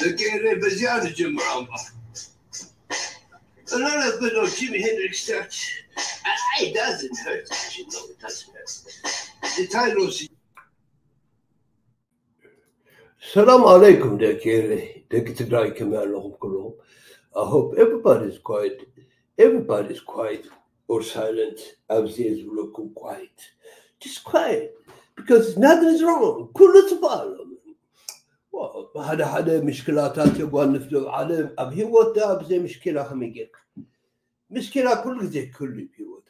ደቂ ኤረይ በዚኣ ንጀምር ኣምባ። A lot of good old Jimi Hendrix touch. I, it doesn't hurt. You know, it doesn't hurt. The Tyler ሰላም ኣለይኩም ደቂ ኤረይ፣ ደቂ ትግራይ ከመይ ኣለኹም ኩልኹም? I hope everybody is quiet. Everybody is quiet or silent. ኣብዚ ዝብለኩም quiet. Just quiet. Because nothing is wrong. ኩሉ ጽቡቕ ኣሎ። ሓደ ሓደ ምሽክላታት የጓንፍ ዶ ዓለም ኣብ ህይወት ዳ ብዘይ ምሽኪላ ከመይ ጌርካ? ምሽኪላ ኩሉ ግዜ ክህሉ እዩ ህይወት።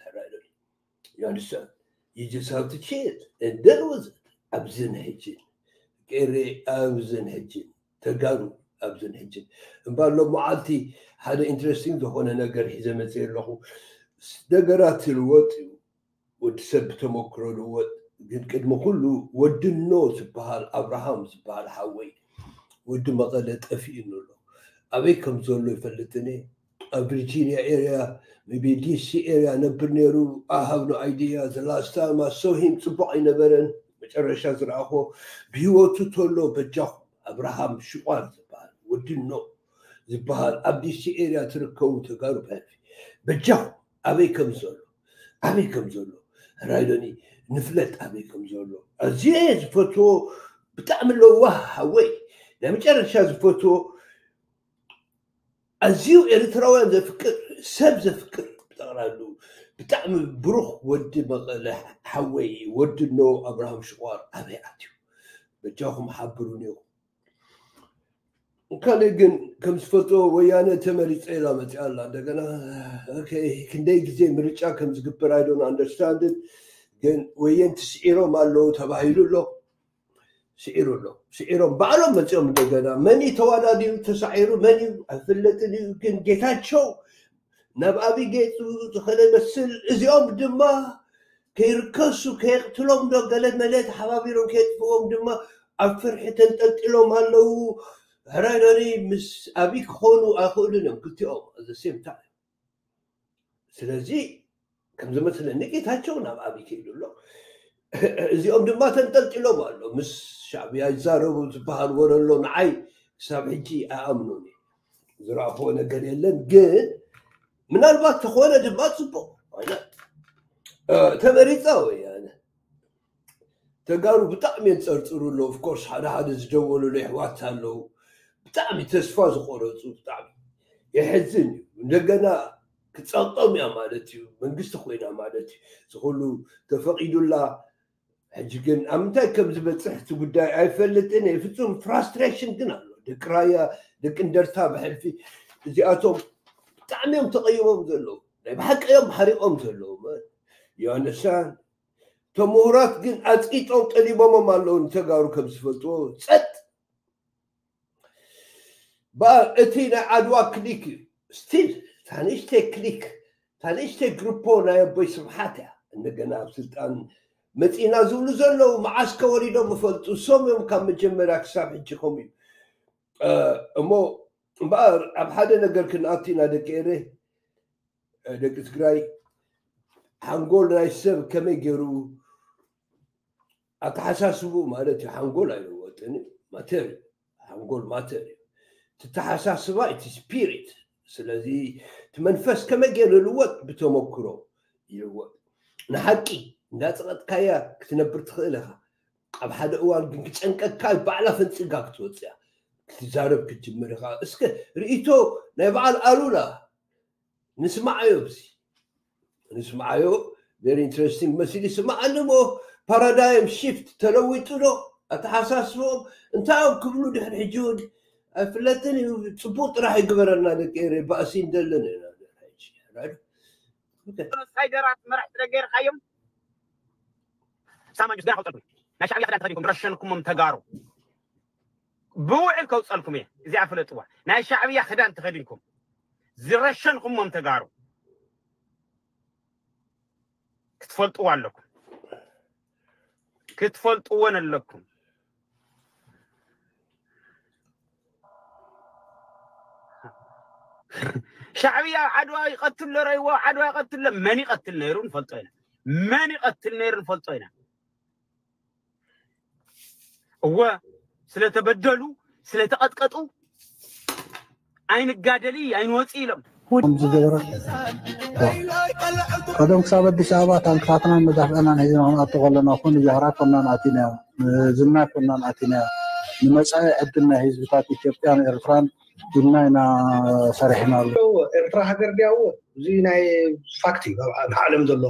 You understand? You just have to change. And that was it. ኣብዝን ሕጅን፣ ቀሬ ኣብዝን ሕጅን፣ ተጋሩ ኣብዝን ሕጅን። እምበር ሎም መዓልቲ ሓደ interesting ዝኾነ ነገር ሒዘ መፅእ ኣለኹ። ነገራት ይልወጥ እዩ። ወዲ ሰብ ብተመክሮ ይልወጥ። ግን ቅድሚ ኩሉ ወዲ ኖ ዝበሃል፣ ኣብርሃም ዝበሃል ሓወይ፣ ወዲ መቐለ ጠፊእኑ ኣሎ። ኣበይ ከም ዘሎ ይፈልጥን እየ። ኣብ ቪርጂኒያ ኤርያ፣ maybe ዲሲ ኤርያ ነብር ነይሩ። I have no idea. The last time I saw him ጽቡቕ ኣይነበረን። መጨረሻ ዝረኣኹ ብህይወቱ ተሎ በጃኹም ኣብርሃም ሽቋር ዝበሃል ወዲ ኖ ዝበሃል ኣብ ዲሲ ኤርያ ትርከቡ ተጋሩ ፓርቲ በጃኹም ኣበይ ከም ዘሎ ኣበይ ከም ዘሎ ራይዶኒ ንፍለጥ ኣበይ ከም ዘሎ ኣዝየ ዝፈትዎ ብጣዕሚ ለዋህ ሓወይ ናይ መጨረሻ ዝፈትዎ ኣዝዩ ኤርትራውያን ዘፍቅር ሰብ ዘፍቅር ብጠቕላሉ ብጣዕሚ ብሩኽ ወዲ መቐለ ሓወይ ወዲ ኖ ኣብርሃም ሽቋር ኣበይ ኣትዩ በጃኹም ሓብሩኒ ኢኹም ካልእ ግን ከም ዝፈልጦ ወያነ ተመሪፀ ኢላ መፅኣ ኣላ እንደገና ክንደይ ግዜ ምርጫ ከም ዝግበር ኣይዶን ኣንደርስታንድን ግን ወየንቲ ስዒሮም ኣለዉ ተባሂሉ ኣሎ ስዒሩ ኣሎ። ስዒሮም ባዕሎም መፂኦም እንደገና መን እዩ ተዋዳዲሩ ተሳዒሩ መን እዩ ኣይፍለጥን እዩ። ግን ጌታቸው ናብ ኣብይ ገይፁ ዝኸደ መስል እዚኦም ድማ ከይርከሱ ከየቅትሎም ዶ ገለ መለ ተሓባቢሮም ከየጥፍዎም ድማ ኣብ ፍርሒ ተንጠልጢሎም ኣለዉ። ሕራይ ዶኒ ምስ ኣብይ ክኾኑ ኣይኽእሉን እዮም ክልቲኦም the same time። ስለዚ ከም ዝመስለኒ ጌታቸው ናብ ኣብይ ከይዱ ኣሎ። እዚኦም ድማ ተንጠልጢሎም ኣሎ ምስ ሻዕብያ ይዛረቡ ዝበሃል ወረ ኣሎ። ንዓይ ክሳብ ሕጂ ኣይኣምኑን እየ። ዝረኣኽዎ ነገር የለን። ግን ምናልባት ተኾነ ድማ ፅቡቅ ተመሪፃ ወያነ ተጋሩ ብጣዕሚ የንፀርፅሩ ኣለዉ። ኦፍኮርስ ሓደ ሓደ ዝደወሉሉ ኣሕዋት ኣለዉ ብጣዕሚ ተስፋ ዝቆረፁ ብጣዕሚ የሕዝን እዩ። እንደገና ክፀቕጦም እያ ማለት እዩ። መንግስቲ ኮይና ማለት እዩ። ዝኩሉ ተፈቂዱላ ሕጂ ግን ኣብ ምንታይ ከም ዝበፅሕ እቲ ጉዳይ ኣይፈልጥን እየ። ፍፁም ፍራስትሬሽን ግን ኣሎ። ደቂ ራያ ደቂ እንደርታ ብሕልፊ እዚኣቶም ብጣዕሚ እዮም ተቐይሞም ዘለዉ። ናይ ብሓቂ እዮም ሓሪቖም ዘለዉ። ዮሃንሳን እቶም ምሁራት ግን ኣፅቂጦም ጠሊቦሞም ኣለዉ። ንተጋሩ ከም ዝፈልጥዎ ጸጥ በኣር እቲ ናይ ዓድዋ ክሊክ እዩ። ስቲል ታንሽተይ ክሊክ ታንሽተይ ግሩፖ ናይ ኣቦይ ስብሓት እያ። እንደገና ኣብ ስልጣን መፂና ዝብሉ ዘለዉ መዓስ ከወሪዶም ይፈልጡ። እሶም እዮም ካብ መጀመርያ ክሳብ ሕጂ ከምኡ እዩ። እሞ እምበኣር ኣብ ሓደ ነገር ክንኣቱ ኢና ደቂ ኤረ ደቂ ትግራይ። ሓንጎል ናይ ሰብ ከመይ ገይሩ ኣተሓሳስቡ ማለት እዩ። ሓንጎል ኣይለወጥን እዩ። ማተር እዩ። ሓንጎል ማተር እዩ። ትተሓሳስባ እቲ ስፒሪት። ስለዚ እቲ መንፈስ ከመይ ገይሩ ይልወጥ? ብተመክሮ ይልወጥ። ንሓቂ እንዳፀቐጥካያ ክትነብር ትኽእል ኢኻ። ኣብ ሓደ እዋን ግን ክጨንቀካ ባዕላ ፈንፂጋ ክትወፅያ ክትዛረብ ክትጅምር ኢኻ። እስከ ርእይቶ ናይ በዓል ኣሉላ ንስማዓዮ ብዚ ንስማዓዮ very interesting መሲሉ ይስማዓኒ እሞ ፓራዳይም ሽፍት ተለዊጡ ዶ ኣተሓሳስቦም እንታይ እዮም ክብሉ ድሕሪ ሕጂ እውን ኣይፍለጥን እዩ። ፅቡቅ ጥራሕ ይግበረና ደቂ ኤረ ባእሲ እንደለን ኢና። ሳይደራት መራሕቲ ደገርካዮም ሳማጆስ ገና ከውፀልኩም ናይ ሻዕብያ ክዳን ተኸዲንኩም ዝረሸንኩሞም ተጋሩ ብውዕል ከውፀልኩም እየ። እዚኣ ፍለጥዋ ናይ ሻዕብያ ክዳን ተኸዲንኩም ዝረሸንኩሞም ተጋሩ ክትፈልጥዎ ኣለኩም ክትፈልጥዎን ኣለኩም። ሻዕብያ ዓድዋ ይቐትል ሎ ረይዎ ዓድዋ ይቐትል ሎ መን ይቐትል ነይሩ ንፈልጦ ኢና። መን ይቐትል ነይሩ ንፈልጦ ኢና። እወ ስለተበደሉ ስለተቐጥቀጡ ኣይንጋደሊ ኣይንወፂ ኢሎም ከምዚ ገበረ። ቀደም ክሳብ ኣዲስ ኣበባ ታንክታትናን መዳፍዕናን ሒዝና ክንኣቱ ከለና ኮን ጃህራ ኮናን ኣቲናዮ፣ ዝና ኮናን ኣቲናዮ። ንመፃኢ ዕድል ናይ ህዝብታት ኢትዮጵያን ኤርትራን ኢልና ኢና ሰሪሕናሉ። ኤርትራ ሃገር ድያዎ እዚ ናይ ፋክት እዩ ኣብ ዓለም ዘሎ።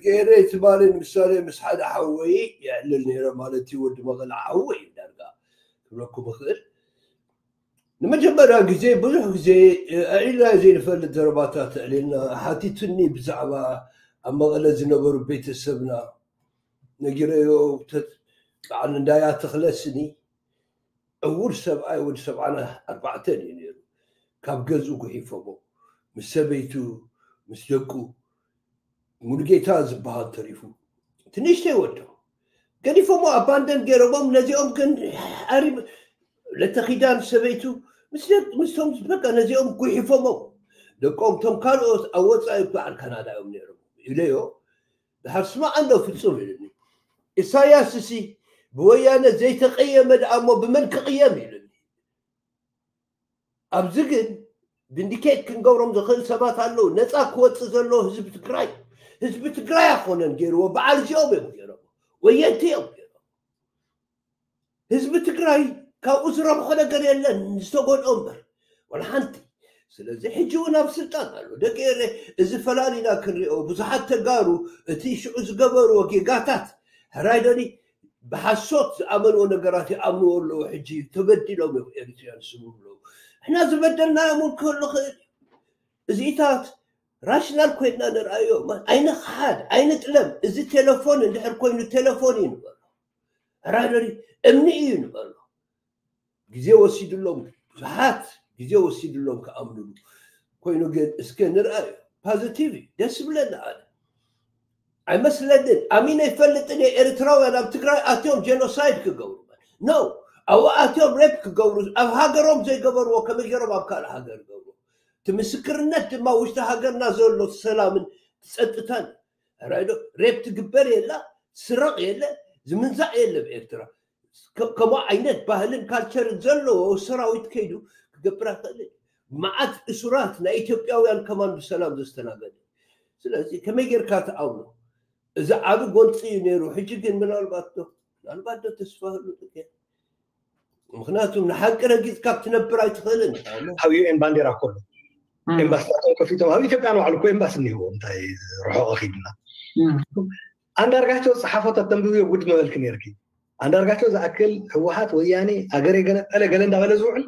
ገይረ ትባልን ምሳሌ ምስ ሓደ ሓወይ የዕልል ነይረ ማለት እዩ። ወዲ መቐለ ሓወይ ዳርጋ ክብለኩም እኽእል። ንመጀመርያ ግዜ ብዙሕ ግዜ ኣዒልና ዘይንፈልጥ ዘረባታት ኣዕሊልና ሓቲቱኒ ብዛዕባ ኣብ መቐለ ዝነበሩ ቤተሰብና ነጊረዮ። በዓል እንዳያ ተኽለ ስኒ ዕውር ሰብኣይ ወዲ ሰብዓና ኣርባዕተን እዩ ነይሩ። ካብ ገዝኡ ጉሒፎሞ ምስ ሰበይቱ ምስ ደቁ ሙሉጌታ ዝበሃል ተሪፉ ትንሽተይ ወዶ ገዲፎሞ ኣባንደን ገይሮሞም። ነዚኦም ግን ኣሪ ለተኺዳን ሰበይቱ ምስቶም በቃ ነዚኦም ጉሒፎሞም ደቆም ቶም ካልኦት ኣብ ወፃኢ በዓል ካናዳ እዮም ነይሮም ኢለዮ። ድሓር ስማዕ ኣሎ ፍፁም ኢሉኒ። ኢሳያስ እሲ ብወያነ ዘይተቐየመ ደኣ እሞ ብመን ክቕየም ኢሉኒ። ኣብዚ ግን ቪንዲኬት ክንገብሮም ዝኽእል ሰባት ኣለዉ። ነፃ ክወፅእ ዘለዎ ህዝቢ ትግራይ ህዝቢ ትግራይ ኣኮነን ገይርዎ በዓል እዚኦም እዮም ገይሮም ወየንቲ እዮም ገይሮም። ህዝቢ ትግራይ ካብኡ ዝረብሖ ነገር የለን ዝተጎድኦ እምበር ወላ ሓንቲ። ስለዚ ሕጂ እውን ኣብ ስልጣን ኣሎ ደቂ ኤረ እዚ ፈላሊና ክንሪኦ ብዙሓት ተጋሩ እቲ ሽዑ ዝገበርዎ ጌጋታት ሕራይ ደኒ ብሓሶት ዝኣመንዎ ነገራት ይኣምንዎ ኣለዉ። ሕጂ ተበዲሎም እዮም ኤሪትሪያን ስሙ ኣለዉ ሕና ዝበደልናዮም እውን ክህሉ ክእል እዩ። እዚኢታት ራሽናል ኮይንና ንርኣዮ። ኣይንኽሓድ ኣይንጥለም። እዚ ቴሌፎን እንድሕር ኮይኑ ቴሌፎን እዩ ንበሎ። ሕራይ ደሪ እምኒ እዩ ንበሎ። ግዜ ወሲድሎም፣ ብዙሓት ግዜ ወሲድሎም ክኣምንሉ። ኮይኑ ግን እስከ ንርኣዮ። ፓዚቲቭ እዩ፣ ደስ ይብለኒ ኣነ። ኣይመስለንን። ኣሚነ ይፈልጥን እየ። ኤርትራውያን ኣብ ትግራይ ኣትዮም ጀኖሳይድ ክገብሩ፣ ኖ፣ ኣብኡ ኣትዮም ሬፕ ክገብሩ፣ ኣብ ሃገሮም ዘይገበርዎ ከመይ ገይሮም ኣብ ካልእ ሃገር ይገብሩ? እቲ ምስክርነት ድማ ውሽጢ ሃገርና ዘሎ ሰላምን ጸጥታን። ራይዶ ሬፕ ትግበር የላ፣ ስረቕ የለ፣ ዝምንዛዕ የለ። ኤርትራ ከ- ከምኡ ዓይነት ባህልን ካልቸርን ዘለዎ ሰራዊት ከይዱ ክገብር ኣይኽእልን። መዓት እሱራት ናይ ኢትዮጵያውያን ከማን ብሰላም ዘስተናገደ። ስለዚ ከመይ ጌርካ ትኣምኖ? እዚ ዓቢ ጎንፂ እዩ ነይሩ። ሕጂ ግን ምናልባት ዶ ምናልባት ዶ ተስፋ ህሉ ጥቄ? ምክንያቱም ንሓቂ ረጊፅካ ክትነብር ኣይትኽእልን። ኣብ ዩኤን ባንዴራ እኮ ኣሎ። ኤምባሲታቶም ከፊቶም ኣብ ኢትዮጵያ ንባዕሉ እኮ ኤምባሲ እኒህዎ። እንታይ ርሑቕ ኺድና? ኣንዳርጋቸው ዝፀሓፎ ተተንብብዮ ጉድ መበልክ ነርኪ። ኣንዳርጋቸው ዝኣክል ህወሓት፣ ወያኔ፣ ሃገር የገነጠለ ገለ እንዳበለ ዝውዕል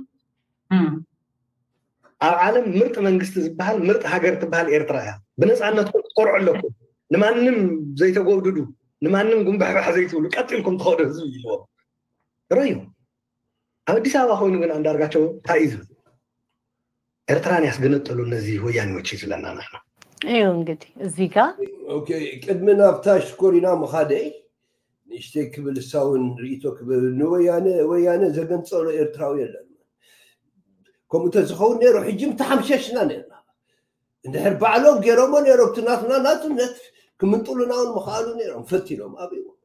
ኣብ ዓለም ምርጥ መንግስቲ ዝበሃል፣ ምርጥ ሃገር ትበሃል ኤርትራ እያ። ብነፃነትኩም ትኮርዑ ኣለኩም። ንማንም ዘይተጎብድዱ፣ ንማንም ጉንባሕባሕ ዘይትብሉ፣ ቀጢልኩም ትኸዱ ህዝቢ ኢልዎም። ረዩ ኣብ ኣዲስ ኣበባ ኮይኑ ግን ኣንዳርጋቸው እንታይ እዩ ዝብል? ኤርትራን ያስገነጠሉ እነዚህ ወያኔዎች ይዝለና ንሕና። እዩ እንግዲህ እዚህ ጋር ኦኬ፣ ቅድሚ ናብታ ሽኮሪና ምኻደይ ንእሽተይ ክብል እሳውን ርእቶ ክብል፣ ንወያነ ወያነ ዘገንጸሎ ኤርትራዊ የለን። ከምኡ ተዝኸውን ነይሩ ሕጂ ምተሓምሸሽና ነርና። እንድሕር ባዕሎም ገይሮሞ ነይሮም እቲ ናትና ናጽነት ክምንጥሉና እውን ምኽኣሉ ነይሮም። ፈቲኖም ኣብዎም።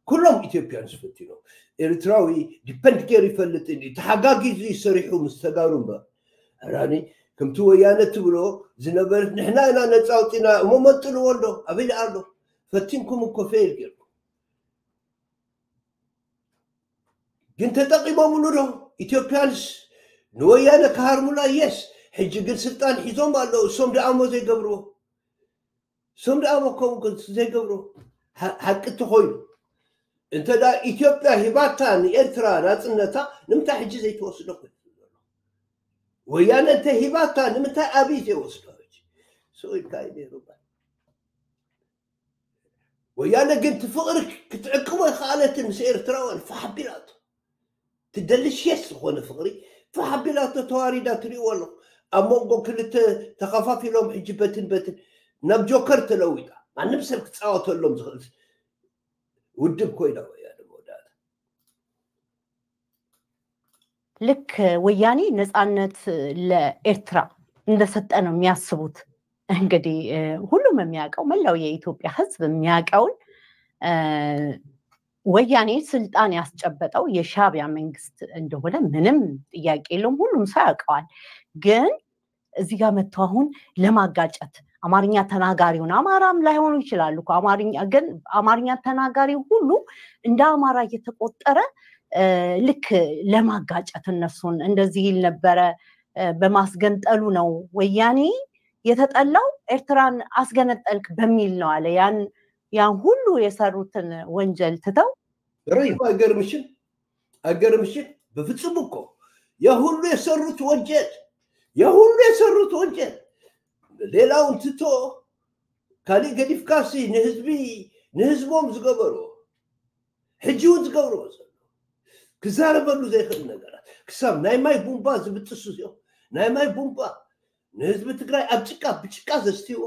ኩሎም ኢትዮጵያንስ ፈቲኖም። ኤርትራዊ ዲፐንድ ገይሩ ይፈልጥ እንዲ ተሓጋጊዙ ይሰሪሑ ምስ ተጋሩ እምበር። ሕራኒ ከምቲ ወያነ ትብሎ ዝነበረት ንሕና ኢና ነፃ ኣውፂና እሞ መንጥልዎ ኣሎ ኣበይ ኣሎ? ፈቲንኩም እኮ ፌል ገይርኩም። ግን ተጠቂሞምሉ ዶ ኢትዮጵያንስ ንወያነ ክሃርሙላ? የስ። ሕጂ ግን ስልጣን ሒዞም ኣለዉ። እሶም ደኣሞ ዘይገብርዎ እሶም ደኣሞ ከምኡ ዘይገብርዎ ሓቂ ተኾይኑ እንተ ኢትዮጵያ ሂባታ ንኤርትራ ናፅነታ ንምንታይ ሕጂ ዘይትወስዶ? ወያነ እንተ ሂባታ ንምንታይ ኣብይ ዘይወስዶ? ሰው ኢልካ እዩ ነይሩ። ወያነ ግን ትፍቕሪ ክትዕቅቦ ይኸኣለትን ምስ ኤርትራውያን ፋሓቢላቶ ትደልሽየስ ዝኾነ ፍቕሪ ፋሓቢላቶ ተዋሪዳ ትሪእዎ ኣለኹ። ኣብ መንጎ ክልተ ተኸፋፊሎም ሕጂ በትን በትን ናብ ጆከር ተለዊጣ ማንም ሰብ ክፃወተሎም ዝኽእል ውድብ ኮይና ወያነ መወዳእታ ልክ ወያኔ ነፃነት ለኤርትራ እንደሰጠ ነው የሚያስቡት። እንግዲህ ሁሉም የሚያውቀው መላው የኢትዮጵያ ህዝብ የሚያውቀውን ወያኔ ስልጣን ያስጨበጠው የሻቢያ መንግስት እንደሆነ ምንም ጥያቄ የለውም። ሁሉም ሰው ያውቀዋል። ግን እዚህ ጋር መጥቶ አሁን ለማጋጨት አማርኛ ተናጋሪውን አማራም ላይሆኑ ይችላሉ እኮ አማርኛ ግን አማርኛ ተናጋሪ ሁሉ እንደ አማራ እየተቆጠረ ልክ ለማጋጨት እነሱን እንደዚህ ይል ነበረ። በማስገንጠሉ ነው ወያኔ የተጠላው። ኤርትራን አስገነጠልክ በሚል ነው አለ። ያን ያን ሁሉ የሰሩትን ወንጀል ትተው አይገርምሽም? አይገርምሽም? በፍጹም እኮ የሁሉ የሰሩት ወንጀል የሁሉ የሰሩት ወንጀል ሌላውን ትቶ ካሊእ ገዲፍካሲ ንህዝቢ ንህዝቦም ዝገበርዎ ሕጂ እውን ዝገብርዎ ዘሎ ክዛረበሉ ዘይኽእል ነገራት ክሳብ ናይ ማይ ቡምባ ዝብጥሱ እዚኦም ናይ ማይ ቡምባ ንህዝቢ ትግራይ ኣብ ጭቃ ብጭቃ ዘስትይዎ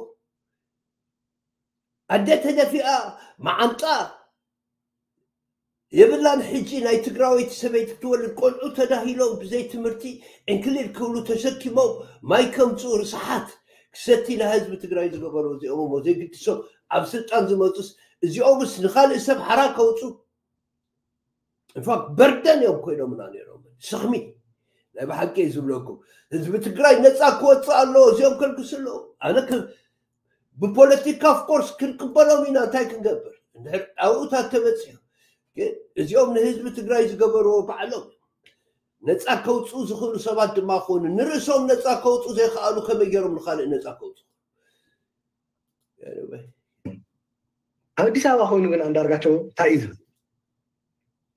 ኣደ ተደፊኣ መዓንጣ የብላን። ሕጂ ናይ ትግራወይቲ ሰበይቲ ክትወልድ ቆልዑ ተዳሂሎም ብዘይ ትምህርቲ ዕንክሊል ክብሉ ተሸኪሞም ማይ ከምፅኡ ርስሓት ክሰቲ ንህዝቢ ትግራይ ዝገበሩ እዚኦም እሞ ዘይግድሶም ኣብ ስልጣን ዝመፁስ እዚኦምስ ንካልእ ሰብ ሓራ ከውፁ ኢንፋክት በርደን እዮም ኮይኖምና ነይሮም። ስኽሚ ናይ ብሓቂ ዝብለኩም ህዝቢ ትግራይ ነፃ ክወፅእ ኣለዎ። እዚኦም ከልግሱ ኣለዎ። ኣነ ብፖለቲካ ኦፍኮርስ ክንቅበሎም ኢና። እንታይ ክንገብር እንድሕር ኣብኡታት ተበፂሑ ግን እዚኦም ንህዝቢ ትግራይ ዝገበርዎ ባዕሎም ነፃ ከውፅኡ ዝኽእሉ ሰባት ድማ ክኾኑ ንርእሶም ነፃ ከውፁ ዘይከኣሉ ከመይ ገይሮም ንካልእ ነፃ ከውፁ? ኣብ ኣዲስ ኣበባ ኮይኑ ግን ኣንዳርጋቸው እንታይ እዩ ዝብል?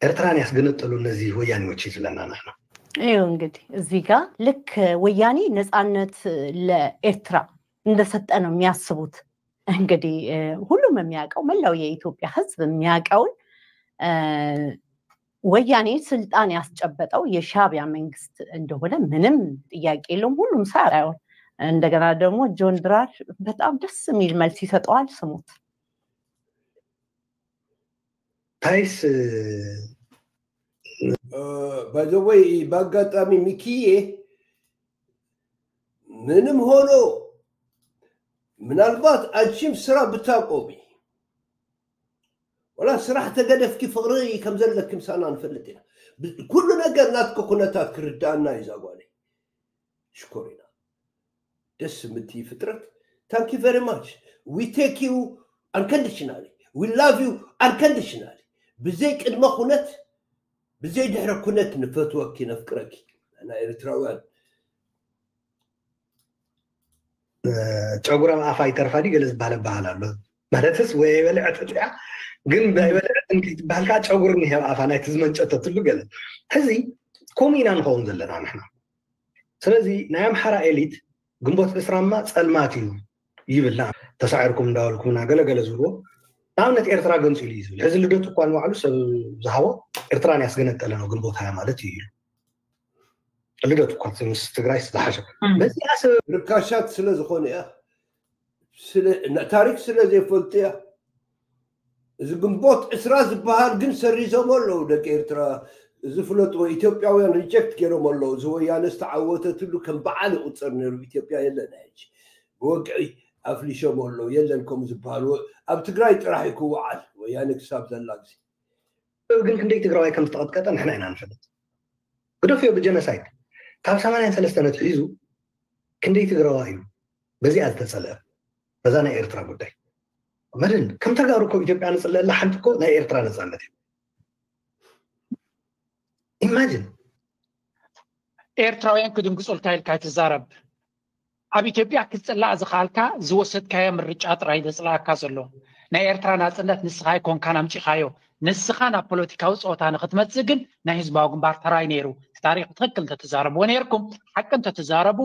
ኤርትራን ያስገነጠሉ እነዚህ ወያኔዎች ይዝለና ንሕና። ይኸው እንግዲህ እዚህ ጋር ልክ ወያኔ ነፃነት ለኤርትራ እንደሰጠ ነው የሚያስቡት። እንግዲህ ሁሉም የሚያውቀው መላው የኢትዮጵያ ህዝብ የሚያውቀውን ወያኔ ስልጣን ያስጨበጠው የሻዕቢያ መንግስት እንደሆነ ምንም ጥያቄ የለውም። ሁሉም ሰው ያውቃል። እንደገና ደግሞ ጆን ድራር በጣም ደስ የሚል መልስ ይሰጠዋል። ስሙት። ታይስ ባይዘወይ በአጋጣሚ ሚኪዬ ምንም ሆኖ ምናልባት አንቺም ስራ ብታቆሚ ወላ ስራሕ ተገደፍኪ ፍቅሪ ከም ዘለኪ ምሳና ንፈልጥ ኢና። ብ- ኩሉ ነገር ናትኪ ኩነታት ክርዳእና እዩ ዛጓለይ። ሽኮሪና ደስ ምትይ ፍጥረት። Thank you very much. We take you unconditionally. We love you unconditionally. ብዘይ ቅድመ ኩነት ብዘይ ድሕረ ኩነት ንፈትወኪ ነፍቅረኪ። ንሕና ኤርትራውያን ጨጉራም ኣፋ ይተርፋ ድዩ ገለ ዝበሃል ኣበሃል ኣሎ። ማለትስ ወይ ኣይበልዐትን እያ፣ ግን ኣይበልዐትን ከይትበሃል ከዓ ጨጉሪ እኒሀ ኣብ ኣፋ ናይቲ ዝመንጨተትሉ ገለ። ሕዚ ከምኡ ኢና ንኸውን ዘለና ንሕና። ስለዚ ናይ ኣምሓራ ኤሊት ግንቦት ዕስራማ ፀልማት እዩ ይብል። ተሳዒርኩም እንዳበልኩምና ገለ ገለ ዝብልዎ። ንኣብነት ኤርትራ ገንፂሉ እዩ ዝብል። ሕዚ ልደቱ እኳ ንባዕሉ ሰብ ዝሃቦ ኤርትራ ንያስ ገነጠለ ነው ግንቦት ሃያ ማለት እዩ ኢሉ። ልደቱ እኳ ምስ ትግራይ ዝተሓሸ በዚኣ ሰብ ርካሻት ስለ ዝኾነ እያ። ስለ- ና- ታሪክ ስለ ዘይፈልጡ እያ። እዚ ግንቦት ዕስራ ዝበሃል ግን ሰሪዞሞ ኣለዉ ደቂ ኤርትራ። ዝፍለጥዎ ኢትዮጵያውያን ሪጀክት ገይሮም ኣለዉ። እዚ ወያነ ዝተዓወተትሉ ከም በዓል ይቁፀር ነይሩ። ኢትዮጵያ የለን ሕጂ ብወግዒ ኣፍሊሾም ኣለዉ። የለን ከምኡ ዝበሃል ወ- ኣብ ትግራይ ጥራሕ እዩ ክወዓል ወያነ ክሳብ ዘላ ግዜ። ግን ክንደይ ትግራዋይ ከም ዝተቐጥቀጠ ንሕና ኢና ንፈልጥ። ግደፍዮ ብጀኖሳይድ ካብ ሰማንያን ሰለስተን ኣትሒዙ ክንደይ ትግራዋይ እዩ በዚኣ ዝተፀልአ በዛ ናይ ኤርትራ ጉዳይ። መድን ከም ተጋሩ እኮ ኢትዮጵያ ንፅለአላ ሓንቲ እኮ ናይ ኤርትራ ነፃነት እዩ። ኢማጅን ኤርትራውያን ክድንግፁልካ ኢልካ ትዛረብ። ኣብ ኢትዮጵያ ክትፅላእ ዝኸኣልካ ዝወሰድካዮ ምርጫ ጥራይ ዘፅላኣካ ዘሎ። ናይ ኤርትራ ናፅነት ንስኻ ኣይኮንካን ኣምፂኻዮ። ንስኻ ናብ ፖለቲካዊ ፀወታ ንክትመፅእ ግን ናይ ህዝባዊ ግንባር ተራይ ነይሩ። እቲ ታሪክ ብትክክል እንተትዛረብዎ ነይርኩም፣ ሓቂ እንተትዛረቡ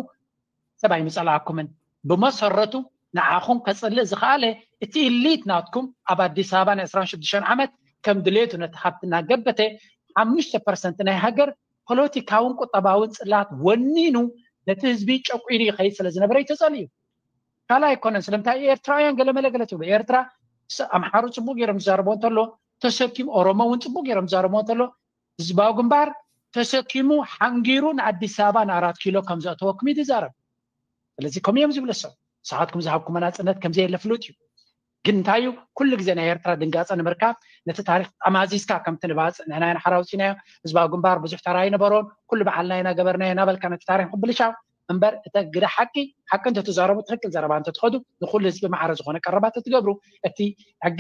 ሰብ ኣይምፀላኣኩምን። ብመሰረቱ ንዓኹም ከፅልእ ዝኸኣለ እቲ ኢሊት ናትኩም ኣብ ኣዲስ ኣበባ ን ዕስራን ሽዱሽተን ዓመት ከም ድሌቱ ነቲ ሃብቲ እናገበተ ሓሙሽተ ፐርሰንት ናይ ሃገር ፖለቲካውን ቁጠባውን ፅላት ወኒኑ ነቲ ህዝቢ ጨቁኑ ይኸይድ ስለ ዝነበረ እዩ ተፀሊኡ። ካልእ ኣይኮነን። ስለምንታይ ኤርትራውያን ገለመለ ገለ ትብሉ? ኤርትራ ስ- ኣምሓሩ ፅቡቅ ገይሮም ዝዛረቦ እንተሎ ተሰኪሙ፣ ኦሮሞ እውን ፅቡቅ ገይሮም ዝዛረቦ እንተሎ ህዝባዊ ግንባር ተሰኪሙ ሓንጊሩ ንኣዲስ ኣበባ ንኣራት ኪሎ ከም ዘእተወኩም እዩ ዝዛረብ። ስለዚ ከምኡ እዮም ዝብሉ። ሰብ ንስኻትኩም ዝሃብኩም ናፅነት ከም ዘየለ ፍሉጥ እዩ። ግን እንታይ እዩ ኩሉ ግዜ ናይ ኤርትራ ድንጋፀ ንምርካብ ነቲ ታሪክ ጠማዚዝካ ከምቲ ንባፅእ ንሕና ኢና ሓራ ኣውፂእናዮ፣ ህዝባዊ ግንባር ብዙሕ ተራ ኣይነበሮን፣ ኩሉ ባዕልና ኢና ገበርናዮ እናበልካ ነቲ ታሪክ ምብልሻው እምበር፣ እተ ግደ ሓቂ ሓቂ እንተትዛረቡ ትክክል ዘረባ እንተትኸዱ ንኩሉ ህዝቢ ማዕረ ዝኾነ ቀረባ ተትገብሩ፣ እቲ ሕጊ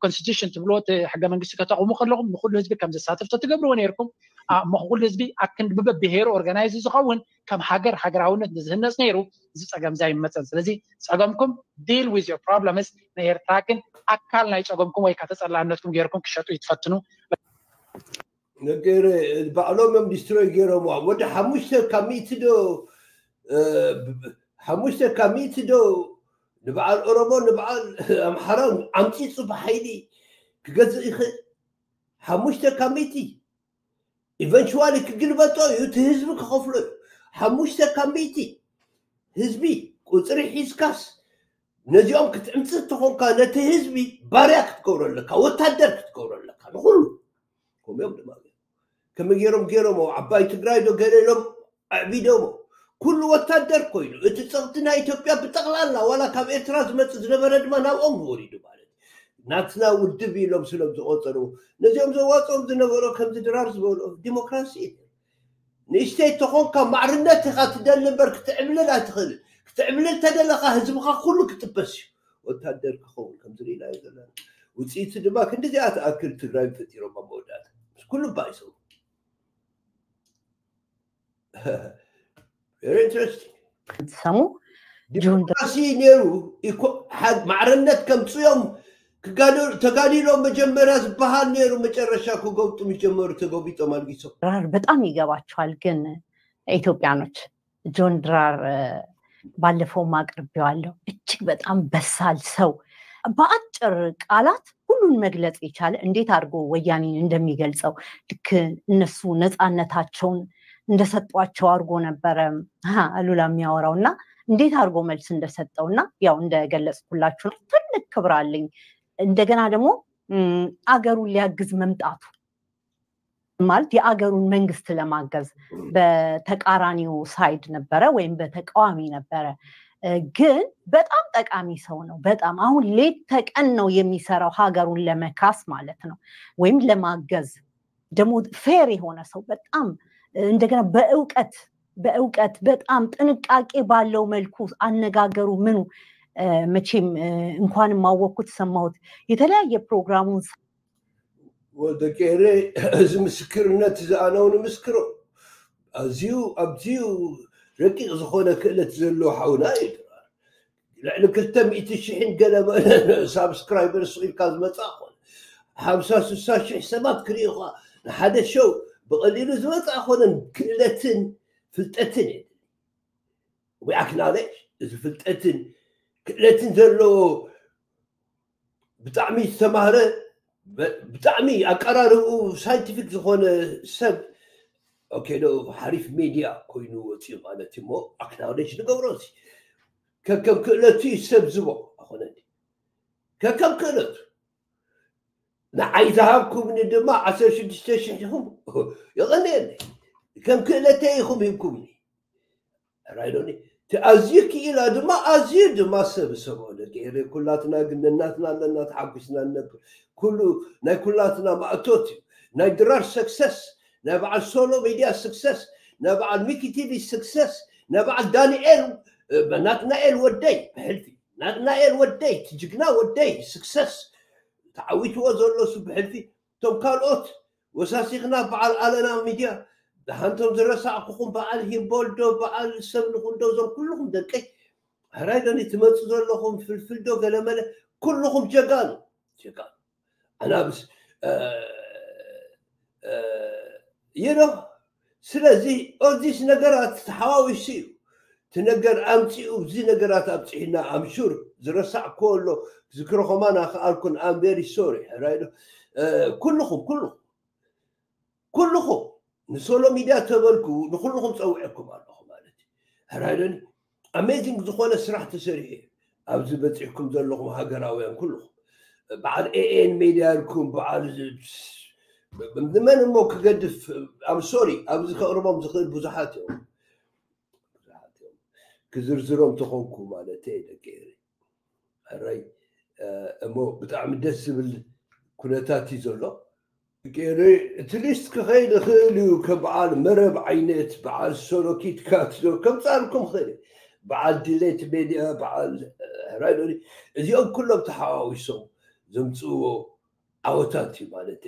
ኮንስቲቱሽን ትብልዎ እቲ ሕገ መንግስቲ ከተቕሙ ከለኹም ንኩሉ ህዝቢ ከም ዘሳትፍ ተትገብርዎ ነይርኩም። እሞ ኩሉ ህዝቢ ኣክንዲ ብበብሄሩ ኦርጋናይዝ ዝኸውን ከም ሃገር ሃገራውነት ዝህነፅ ነይሩ። እዚ ፀገም ዛ ይመፀን። ስለዚ ፀገምኩም deal with your problems። ንኤርትራ ግን ኣካል ናይ ፀገምኩም ወይ ከዓ ተፀላእነትኩም ገይርኩም ክሸጡ ይትፈትኑ። ነገር ባዕሎም እዮም ዲስትሮይ ገይሮም። ወደ ሓሙሽተ ካብ ሚእቲ ዶ እ፣ ሓሙሽተ ካብ ሚእቲ ዶ ንበዓል ኦሮሞ ንበዓል ኣምሓራ ኣምፂፁ ብሓይሊ ክገዝእ ይኽእል። ሓሙሽተ ካብ ሚእቲ ኢቨንቹዋሊ ክግልበጦ እዩ፣ እቲ ህዝቢ ክኸፍሎ እዩ። ሓሙሽተ ካብ ሚእቲ ህዝቢ ቁፅሪ ሒዝካስ ነዚኦም ክትዕምፅእ እንተኾንካ ነቲ ህዝቢ ባርያ ክትገብሮ ኣለካ፣ ወታደር ክትገብሮ ኣለካ ንኩሉ። ከምኦም ድማ ከመይ ገይሮም ገይሮሞ ዓባይ ትግራይ ዶ ገለ ኢሎም ኣዕቢዶሞ። ኩሉ ወታደር ኮይኑ እቲ ፀቕጢ ናይ ኢትዮጵያ ብጠቕላላ ዋላ ካብ ኤርትራ ዝመፅእ ዝነበረ ድማ ናብኦም ወሪዱ ማለት እዩ። ናትና ውድብ ኢሎም ስሎም ዝቆፀሩ ነዚኦም ዘዋፅኦም ዝነበሮ ከምዚ ድራር ዝበሎ ዲሞክራሲ እዩ። ንእሽተይ ተኾንካ ማዕርነት ኢኻ ትደሊ እምበር ክትዕብልል ኣይትኽእልን። ክትዕብልል ተደለኻ ህዝብኻ ኩሉ ክጥበስ እዩ። ወታደር ክኸውን ከምዚ ርኢናዮ ዘለና ውፅኢቱ ድማ ክንዲዚኣ ትኣክል ትግራይ ፈጢሮም ኣብ መወዳእታ ምስ ኩሉ ባይሶም very interesting ሰሙ ዲሞክራሲ ነይሩ ኢኮ- ሓ- ማዕርነት ከምፅዮም ክጋደሉ ተጋዲሎም መጀመርያ ዝበሃል ነይሩ መጨረሻ ክገብጡ ምስ ጀመሩ ተገቢጦም ኣልጊሶም ድራር በጣም ይገባቸዋል። ግን ኢትዮጵያኖች ጆን ድራር እ፣ ባለፈውም አቅርቤዋለሁ። እጅግ በጣም በሳል ሰው፣ በአጭር ቃላት ሁሉን መግለጽ የቻለ እንዴት አድርጎ ወያኔን እንደሚገልጸው፣ ልክ እነሱ ነፃነታቸውን እንደሰጧቸው አድርጎ ነበረ አሉላ የሚያወራው። እና እንዴት አድርጎ መልስ እንደሰጠው፣ እና ያው እንደገለጽኩላችሁ ነው። ትልቅ ክብር አለኝ። እንደገና ደግሞ አገሩን ሊያግዝ መምጣቱ ማለት የአገሩን መንግስት ለማገዝ በተቃራኒው ሳይድ ነበረ ወይም በተቃዋሚ ነበረ። ግን በጣም ጠቃሚ ሰው ነው። በጣም አሁን ሌት ተቀን ነው የሚሰራው ሀገሩን ለመካስ ማለት ነው፣ ወይም ለማገዝ። ደግሞ ፌር የሆነ ሰው በጣም እንደገና በእውቀት በእውቀት በጣም ጥንቃቄ ባለው መልኩ አነጋገሩ ምኑ መቼም እንኳንም አወቅኩት ሰማሁት የተለያየ ፕሮግራሙን ወደ ቄሬ እዚ ምስክርነት እዚ ኣነ እውን ምስክሮ ኣዝዩ ኣብዝዩ ረቂቕ ዝኾነ ክእለት ዘለዎ ሓውና እዩ። ልዕሊ ክልተ ሚእቲ ሽሕን ገለ ሳብስክራይበርስ ኢልካ ዝመፅእ ኮነ ሓምሳ ስሳ ሽሕ ሰባት ክርእዩኻ ንሓደ ሸው ብቐሊሉ ዝመፅእ ኮነን ክእለትን ፍልጠትን እዩ። We acknowledge እዚ ፍልጠትን ክእለትን ዘለዎ ብጣዕሚ ዝተማህረ ብጣዕሚ ኣቀራርብኡ ሳይንቲፊክ ዝኾነ ሰብ ኦኬ ዶ ሓሪፍ ሜድያ ኮይኑ ወፂኡ ማለት እዩ። ሞ ኣክናውሌጅ ንገብሮ እዚ ከከም ክእለቱ እዩ ሰብ ዝቦ ኣኾነ ከከም ክእለቱ ንዓይ ዝሃብኩምኒ ድማ ዓሰርተ ሽዱሽተ ሽሕ ኢኹም የቐንየለይ ከም ክእለተይ ኢኹም ሂብኩምኒ ራይዶኒ ኣዝዩ ክኢላ ድማ ኣዝዩ ድማ ሰብ ሰብኦ ደቂ ኤረ ኩላትና ግን ነናትና ኣለና ተሓጒስና ንነብር ኩሉ ናይ ኩላትና ማእቶት እዩ ናይ ድራር ሰክሰስ ናይ በዓል ሶሎ ሚድያ ስክሰስ ናይ በዓል ሚኪ ቲቪ ስክሰስ ናይ በዓል ዳንኤል ናትናኤል ወደይ ብሕልፊ ናትናኤል ወደይ ትጅግና ወደይ ስክሰስ ተዓዊትዎ ዘሎ ሱ ብሕልፊ እቶም ካልኦት ወሳሲኽና በዓል ኣለና ሚድያ ደሓንቶም ዝረሳዕኩኹም በዓል ሂምቦልዶ በዓል ሰብ ንኹንዶ እዞም ኩልኹም ደቀይ ሕራይ ዶኒ ትመፁ ዘለኹም ፍልፍልዶ ገለመለ ኩልኹም ጀጋኑ ጀጋኑ ኣናብስ ይኖ ስለዚ ኦዚስ ነገራት ተሓዋዊሱ እዩ እቲ ነገር ኣምፂኡ እዚ ነገራት ኣብፅሒና ኣምሹር ዝረሳዕክዎ ኣሎ ዝክሮ ከማን ኣክኣልኩን ኣምቤሪ ሶሪ ሕራይ ዶ ኩልኹም ኩልኹም ኩልኹም ንሶሎ ሚድያ ተበልኩ ንኩልኹም ፀውዐኩም ኣለኹ ማለት እዩ ሕራይ ዶኒ ኣሜዚንግ ዝኾነ ስራሕ ተሰሪሑ ኣብዚ በፂሕኩም ዘለኹም ሃገራውያን ኩልኹም በዓል ኤኤን ሜድያ ኢልኩም በዓል ንመን እሞ ክገድፍ ኣም ሶሪ ኣብዚ ከቕርቦም ዝኽእል ብዙሓት እዮም ክዝርዝሮም ተኾንኩ ማለት ደቂ ኤሪ ሕራይ እሞ ብጣዕሚ ደስ ዝብል ኩነታት እዩ ዘሎ ጌረ እቲ ሊስት ክኸይድ ይኽእል እዩ ከም በዓል መረብ ዓይነት በዓል ሶሎ ኪትካት ዶ ከምፃልኩም ኽእል በዓል ድሌት ሜድያ በዓል ሕራይ ዶ እዚኦም ኩሎም ተሓዋዊሶም ዘምፅእዎ ዓወታት እዩ ማለት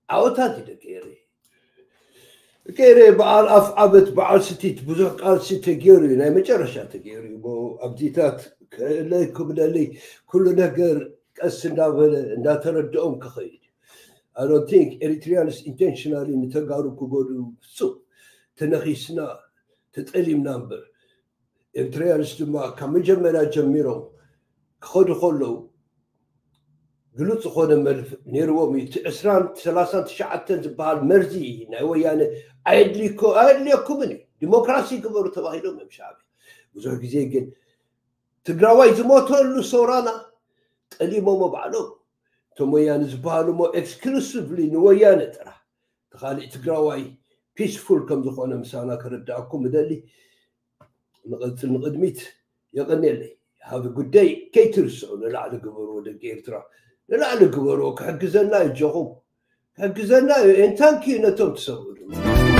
ዓወታት እዩ ደቂ ኤረ ጌረ በዓል ኣፍ ዓበት በዓል ስቲት ብዙሕ ቃልሲ ተገይሩ እዩ ናይ መጨረሻ ተገይሩ እዩ ኣብዚታት ክእለይ ክብለለይ ኩሉ ነገር ቀስ እንዳበለ እንዳተረድኦም ክኸይድ I don't think Eritreans intentionally ንተጋሩ ክጎድኡ ፍጹም ተነኺስና ተጠሊምና እምበር ኤርትራውያንስ ድማ ካብ መጀመርያ ጀሚሮም ክኸዱ ከለዉ ግሉፅ ዝኾነ መልፍ ነይርዎም እዩ እቲ ዕስራን ሰላሳን ትሽዓተን ዝበሃል መርዚ ናይ ወያነ ኣየድልየኩምን እዩ ዲሞክራሲ ግበሩ ተባሂሎም እዮም ሻዕብያ ብዙሕ ግዜ ግን ትግራዋይ ዝሞተሉ ሰውራና ጠሊሞሞ ባዕሎም እቶም ወያነ ዝበሃሉ ሞ ኤክስክሉሲቭሊ ንወያነ ጥራሕ ተኻሊእ ትግራዋይ ፒስፉል ከም ዝኾነ ምሳና ክርዳእኩም እደሊ ንቐፅል ንቕድሚት የቐንየለይ ሃቢ ጉዳይ ከይትርስዑ ንላዕሊ ግበርዎ ደቂ ኤርትራ ንላዕሊ ግበርዎ ክሕግዘና እጆኹም ክሕግዘና እዩ and thank you ነቶም ትሰምዑ ድማ